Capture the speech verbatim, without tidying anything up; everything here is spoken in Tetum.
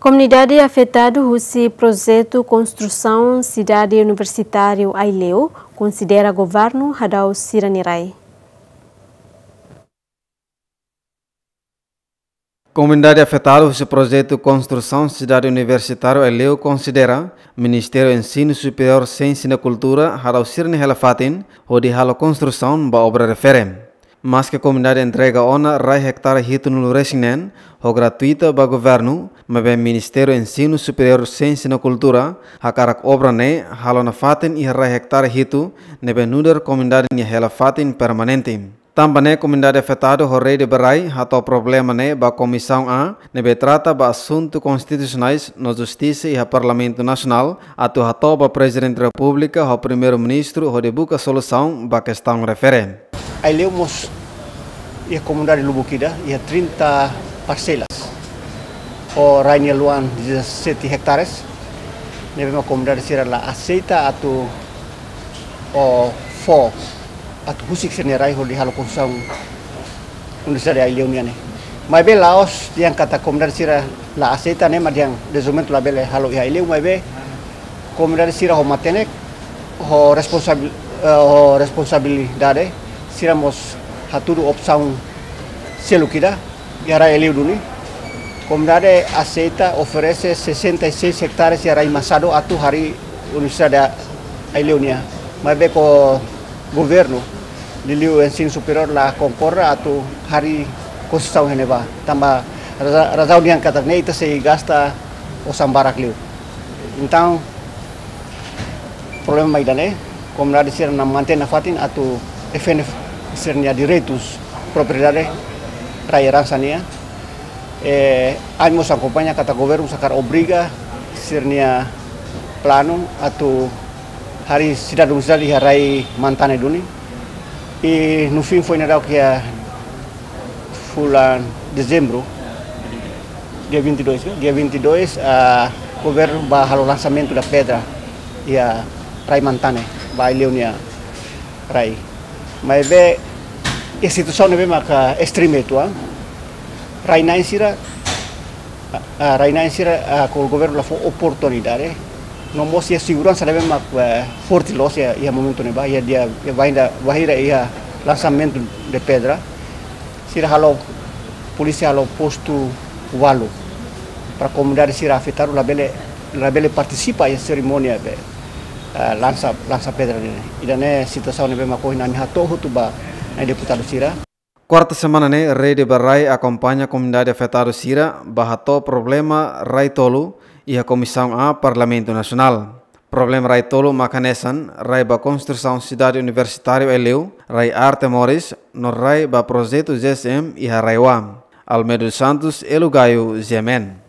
Komunidade afetadu husi projetu konstrusaun Sidade Universitáriu Aileu konsidera governu hadau sira-nia rai. Komunidade afetadu husi projetu konstrusaun Sidade Universitáriu Aileu konsidera Ministériu Ensinu Superiór, Siénsia no Kultura hadau sira-nia hela-fatin hodi halo konstrusaun ba obra refere. Maske komunidade entrega ona rai ektare hitunulu resin neen ho gratuita ba governu, maibé Ministériu Ensinu Superiór, Siénsia no Kultura hakarak obra ne'e halo nafatin iha rai ektare hitu, ne'ebé nu'udar komunidade nia hela-fatin permanente. Tanba ne'e komunidade afetadu ho rede ba rai hato'o problema ne'e ba Komisaun A, ne'ebé trata ba asuntu konstitusionais no justisa iha Parlamentu Nasionál, atu hato'o ba Prezidente Repúblika ho Primeiru-Ministru hodi buka solusaun ba kestaun refere. Aileu mós iha komunidade lubuk ida, iha trinta parselas. Ho rai nia luan dezassete hektares. Ne'ebé mak komunidade sira la aseita atu, o, fó, atu husik sira-nia rai hodi halo konstrusaun Universidade Aileu nian ne'e. Maibé la'ós dehan katak komunidade sira la aseita ne'e mak dehan dezenvolvimentu labele halo iha Aileu, maibé komunidade sira ho matenek, ho responsabil-, eh, ho responsabilidade, sira mós hatudu opsaun seluk ida iha rai Aileu duni. Komunidade aseita oferese sessenta e seis hektares iha rai Machado atu harii Universidade Aileu nian. Maibé ho governu, liuliu Ensinu Superiór la konkorda atu harii konstrusaun iha ne'ebá. Tanba raza-, razaun dehan katak ne'e ita sei gasta osan barak liu. Entaun, problema ida-ne'e, komunidade sira-nia mantein nafatin atu defende sira-nia direitus propriedade rai eransa nian. Eh, ami mós akompaña katak governu hakarak obriga sira-nia planu atu harii sidade universidade iha rai Mantane duni. I no fim foin daudauk iha fulan Dezembru, dia vinte e dois, dia vinte e dois, ah, governu bá halo lansamentu da pedra iha rai Mantane, ba Aileu nia rai. Maibé, iha situasaun ne'ebé maka estreme uitoan, rai-na'in sira, ah, ah, rai-na'in sira, ah, ho governu la fó oportunidade, no mós iha seguransa ne'ebé mak, eh, forte loos iha, iha momentu ne'ebá, iha dia, iha bainda, bainhira iha lansamentu de pedra, sira halo, polísia halo postu ualu, para komunidade sira afetadu labele, labele partisipa iha serimónia be, eh, lansa, lansa pedra ne'e. Ida-ne'e situasaun ne'ebé mak ohin ami hato'o hotu ba nai deputadu sira. Kuarta semana ne'e, Rede ba Rai akompaña komunidade afetadu sira bá hato'o problema rai tolu iha Komisaun A Parlamentu Nasionál. Problema rai tolu mak hanesan rai ba konstrusaun Sidade Universitáriu Aileu, rai Arte Moris, no rai ba projetu G S M iha RAEOA. Almeida dos Santos, Elo Gayo, G M N.